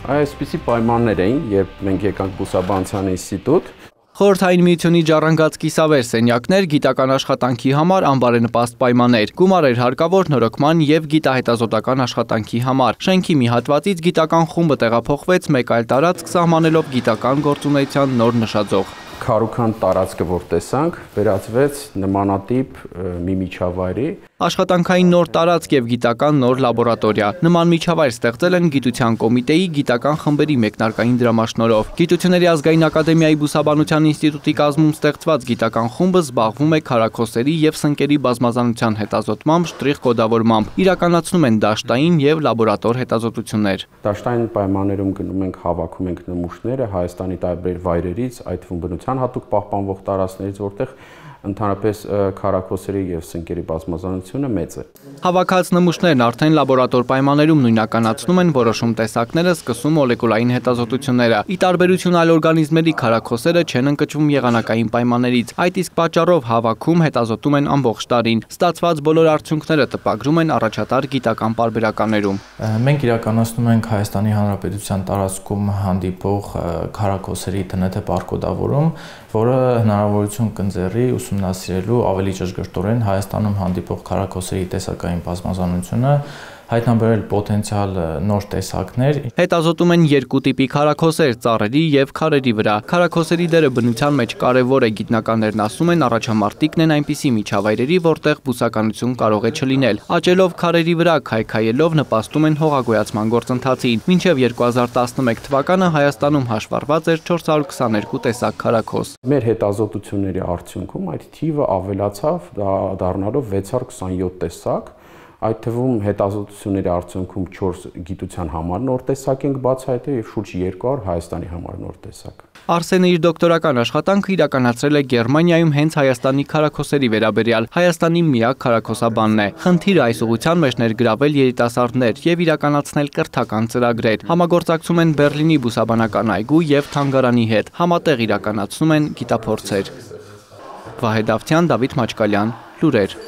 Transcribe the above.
Այսպիսի պայմաններ էին, երբ մենք եկանք Բուսաբանության ինստիտուտ։ Խորհրդային միությունի ժառանգած կիսավեր սենյակներ, գիտական աշխատանքի համար անբարենպաստ պայմաններ, գումարեր հարկավոր նորոգման եւ գիտահետազոտական աշխատանքի համար։ Շենքի մի հատվածից գիտական խումբը տեղափոխվեց մեկ այլ տարածք սահմանելով գիտական գործունեության նոր նշաձող։ Քարուքան տարածքը, որ տեսանք, վերածվեց նմանատիպ մի միջավայրի։ Աշխատանքային նոր տարածք եւ գիտական նոր լաբորատորիա։ Նման միջավայր ստեղծել են Գիտության կոմիտեի գիտական խմբերի մեկնարկային դրամաշնորհով։ Գիտությունների ազգային ակադեմիայի Բուսաբանության ինստիտուտի կազմում ստեղծված գիտական խումբը զբաղվում է քարաքոսերի եւ սնկերի բազմազանության հետազոտմամբ, շտրիխ կոդավորմամբ։ Իրականացնում են դաշտային եւ լաբորատոր հետազոտություններ։ Դաշտային պայմաններում գնում ենք, հավաքում ենք նմուշները Հայաստանի տարբեր վայրերից, այդ թվում բնության հատուկ պահպանվող տարածքներից, որտեղ ընդհանրապես քարաքոսերի եւ սնկերի բազմազանությունը մեծ է։ Հավաքած նմուշներն արդեն լաբորատոր պայմաններում նույնականացնում են որոշում տեսակները, սկսում մոլեկուլային հետազոտությունները։ Ի տարբերություն այլ օրգանիզմների քարաքոսերը չեն ընկճվում եղանակային պայմաններից։ Այդ իսկ պատճառով հավաքում, հետազոտում են ամբողջ տարին։ Ստացված բոլոր արդյունքները տպագրում են առաջատար գիտական պարբերականներում։ Մենք իրականացնում ենք Հայաստանի Հանրապետության տարածքում հանդիպող քարաքոսերի տնետե բարկոդավորում, որը հնարավորություն կընձեռի ուսումնասիրելու ավելի ճշգրտորեն Հայաստանում հանդիպող քարաքոսերի տեսակային բազմազանությունը, հայտնաբերել պոտենցիալ նոր տեսակներ։ Հետազոտում են երկու տիպի քարաքոսեր՝ ծառերի եւ քարերի վրա։ Քարաքոսերի դերը բնության մեջ կարևոր է, գիտնականներն ասում են, առաջամարտիկն են այնպիսի միջավայրերի, որտեղ բուսականություն կարող է չլինել։ Աճելով քարերի վրա, քայքայելով նպաստում են հողագոյացման գործընթացին։ Մինչև 2011 թվականը Հայաստանում հաշվառված էր 422 տեսակ քարաքոս։ Մեր հետազոտությունների արդյունքում այդ թիվը ավելացավ, դառնալով 627 տեսակ։ Այդ թվում հետազոտությունների արդյունքում 4 գիտության համար նոր տեսակ ենք բացահայտել եւ շուրջ 200 Հայաստանի համար նոր տեսակ։ Արսենը իր դոկտորական աշխատանքը իրականացրել է Գերմանիայում հենց Հայաստանի քարաքոսերի վերաբերյալ։ Հայաստանի միակ քարաքոսաբանն է։ Խնդիրը այս ուղղության մեջ ներգրավել երիտասարդներ եւ իրականացնել կրթական ծրագրեր։ Համագործակցում են Բեռլինի բուսաբանական այգու եւ թանգարանի հետ։ Համատեղ իրականացնում են գիտափորձեր։ Վահե Դավթյան, Դավիթ Մաչկալյան, լուրեր։